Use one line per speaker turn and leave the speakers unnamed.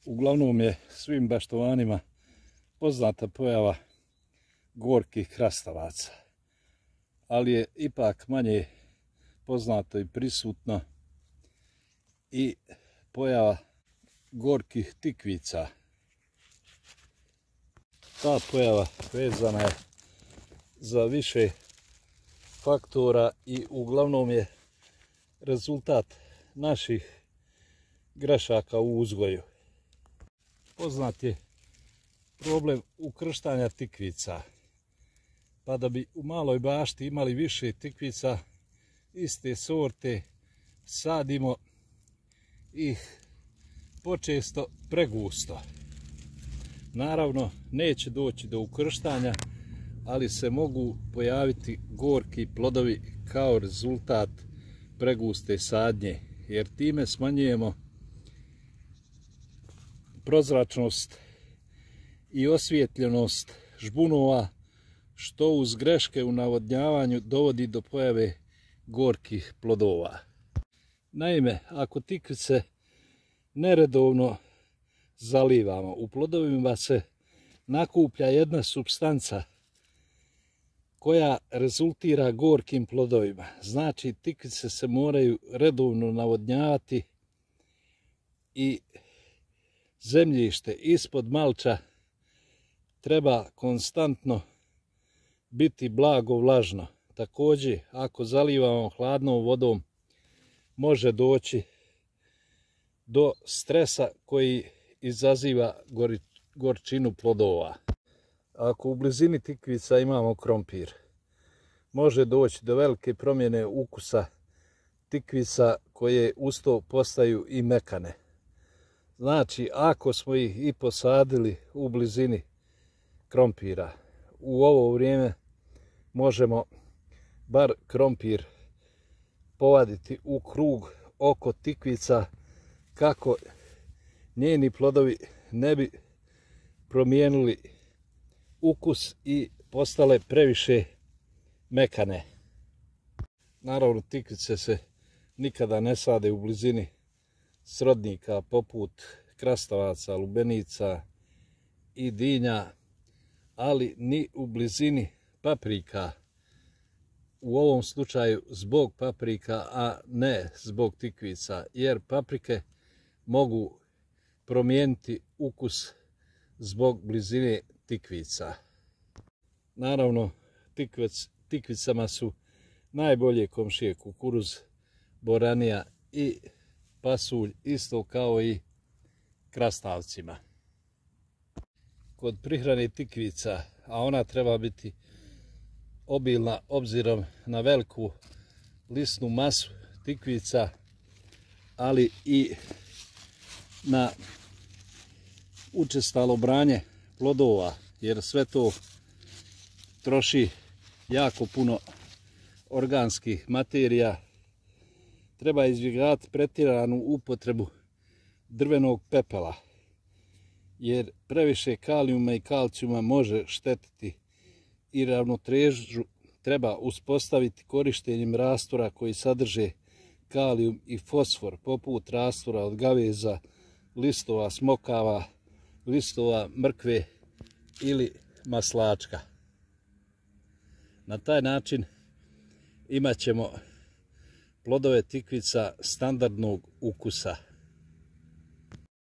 Uglavnom je svim baštovanima poznata pojava gorkih krastavaca, ali je ipak manje poznato i prisutno i pojava gorkih tikvica. Ta pojava vezana je za više faktora i uglavnom je rezultat naših grešaka u uzgoju. Poznat je problem ukrštanja tikvica, pa da bi u maloj bašti imali više tikvica iste sorte, sadimo ih počesto pregusto. Naravno, neće doći do ukrštanja, ali se mogu pojaviti gorki plodovi kao rezultat preguste sadnje, jer time smanjujemo prozračnost i osvijetljenost žbunova, što uz greške u navodnjavanju dovodi do pojave gorkih plodova. Naime, ako tikvice neredovno zalivamo, u plodovima se nakuplja jedna supstanca koja rezultira gorkim plodovima. Znači, tikvice se moraju redovno navodnjavati i zemljište ispod malča treba konstantno biti blago vlažno. Također, ako zalivamo hladnom vodom, može doći do stresa koji izaziva gorčinu plodova. Ako u blizini tikvica imamo krompir, može doći do velike promjene ukusa tikvica koje uz to postaju i mekane. Znači, ako smo ih i posadili u blizini krompira, u ovo vrijeme možemo bar krompir povaditi u krug oko tikvica kako njeni plodovi ne bi promijenili ukus i postale previše mekane. Naravno, tikvice se nikada ne sade u blizini srodnika poput krastavaca, lubenica i dinja, ali ni u blizini paprika. U ovom slučaju zbog paprika, a ne zbog tikvica, jer paprike mogu promijeniti ukus zbog blizine tikvica. Naravno, tikvicama su najbolje komšije kukuruz, boranija i pasulj, isto kao i krastavcima. Kod prihrane tikvica, a ona treba biti obilna obzirom na veliku lisnu masu tikvica, ali i na učestalo branje plodova, jer sve to troši jako puno organskih materija. Treba izbjegavati pretjeranu upotrebu drvenog pepela, jer previše kalijuma i kalcijuma može štetiti i ravnotežu treba uspostaviti korištenjem rastora koji sadrže kalijum i fosfor, poput rastora od gaveza, listova smokava, listova mrkve ili maslačka. Na taj način imat ćemo plodove tikvica standardnog ukusa.